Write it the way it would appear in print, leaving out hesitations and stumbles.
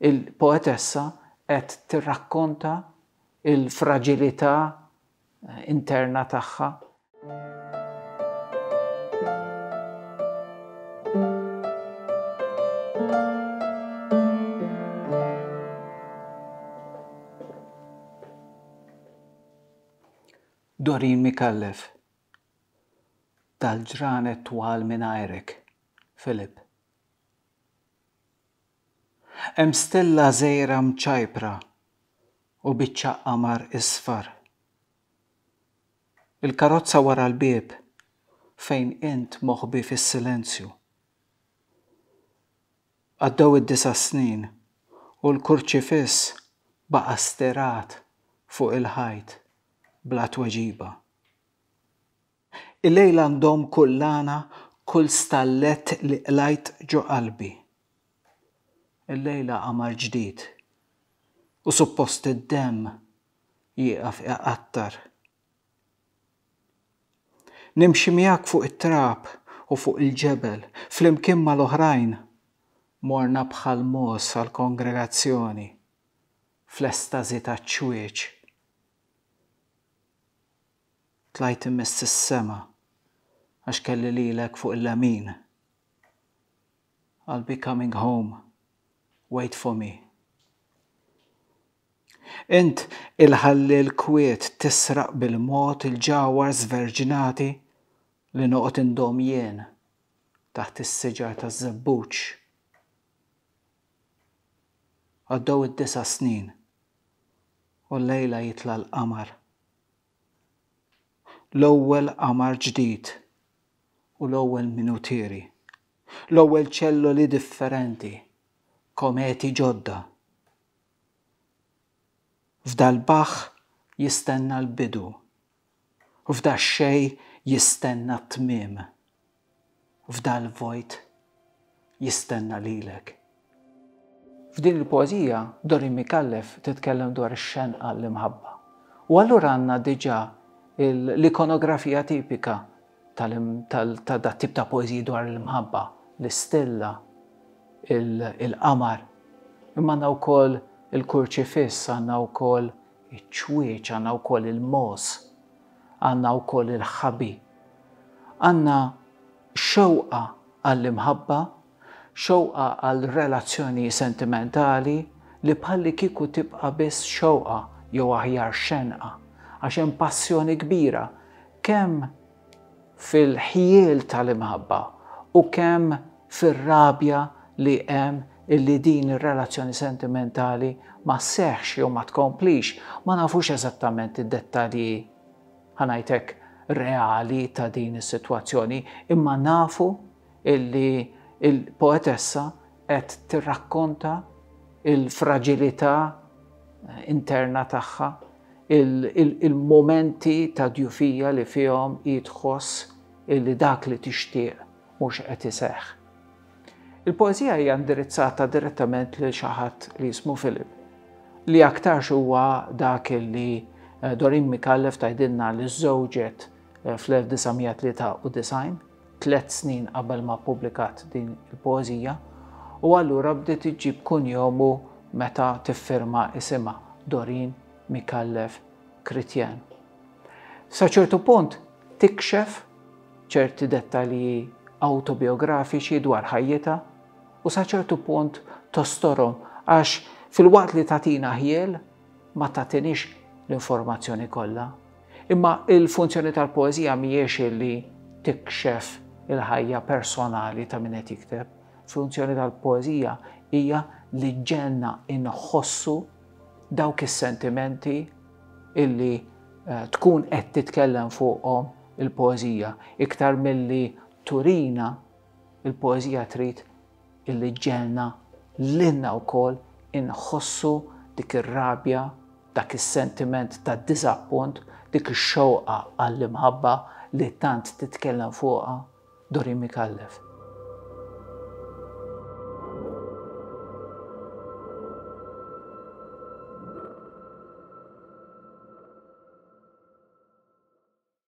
Il-poetessa qed tirrakkonta l-fraġilità interna tagħha. Doreen Micallef, Dal-ġranet twal mingħajrek, Philip. Hemm stella żgħira mċajpra u biċċa qamar isfar. Il-karozza wara l-bieb fejn int moħbi fis-silenzju. Għaddew id-disa' snin u l-kurċifiss baqa' stirat fuq il-ħajt bla tweġiba. Illejla ndomm kullana kull stallett li qlajt ġo qalbi. Illejla qamar ġdid u suppost id-demm jieqaf iqattar. Nimxi miegħek fuq it-trab u fuq il-ġebel, flimkien mal-oħrajn morna bħal mogħoż għall-kongregazzjoni, fl-estażi taċ-ċwieċ. Tlajt immiss is-sema għax kelli lilek fuq il-lemin. I'll be coming home, wait for me. Int il-ħalliel kwiet tisraq bil-mod il-ġawhar żverġnati li noqgħod indomm jien taħt is-siġar taż-żebbuġ. Għaddew id-disa' snin u llejla jitla' l-qamar. L-ewwel qamar ġdid u l-ewwel minutieri. L-ewwel ċelloli differenti, kometi ġodda. F'dal-baħħ jistenna l-bidu, u f'dax-xejn jistenna t-tmiem. F'dal-vojt jistenna lilek. F'din il-poeżija, Doreen Micallef titkellem dwar ix-xenqa għall-imħabba. U allura għandna diġà l-ikonografija tipika ta' dat-tip ta' poeżiji dwar l-imħabba, l-istilla, il-qamar. Imma għandna wkoll il-kurċifiss, għandna wkoll iċ-ċwieċ, għandna wkoll il-mogħoż, għandna wkoll il-ħabi. Għandna xewqa għall-imħabba, xewqa għal relazzjoni sentimentali li bħallikieku tibqa' biss xewqa jew aħjar xenqa, għax hemm passjoni kbira kemm fil-ħjiel tal-imħabba u kemm fir-rabja li hemm illi din ir-relazzjoni sentimentali ma sseħħx jew ma tkomplix, ma nafux eżattament id-dettalji ħa ngħid hekk reali ta' din is-sitwazzjoni, imma nafu illi l-poetessa qed tirrakkonta il-fraġilità interna tagħha, il-mumenti ta' djufija li fihom hi tħoss illi dak li tixtieq mhux qed iseħħ. Il-poeżija hija indirizzata direttament lil xi ħadd li jismu Philip, li aktarx huwa dak li eh, Doreen Micallef tgħidilna li żżewġet eh, fl-1993, tlet snin qabel ma ppubblikat din il-poeżija, u allura bdiet iġġib kunjomu meta tiffirma isimha Doreen Micallef Chrétien. Sa ċertu punt tikxef ċerti dettalji awtobiografiċi dwar ħajjitha u sa ċertu punt tostorhom għax filwaqt li tagħtina ħjiel ma tagħtiniex l-informazzjoni kollha. Imma il-funzjoni tal-poeżija mhijiex li tikxef il-ħajja personali ta' min qed jikteb. Funzjoni tal-poeżija hija li ġenna inħossu dawk is-sentimenti illi eh, tkun qed titkellem fuqhom il-poeżija iktar milli turina il-poeżija trid illi ġġegħelna lilna wkoll inħossu dik ir-rabja, dak is-sentiment ta' diżappunt, dik ix-xewqa għall-imħabba li tant titkellem fuqha Doreen Micallef.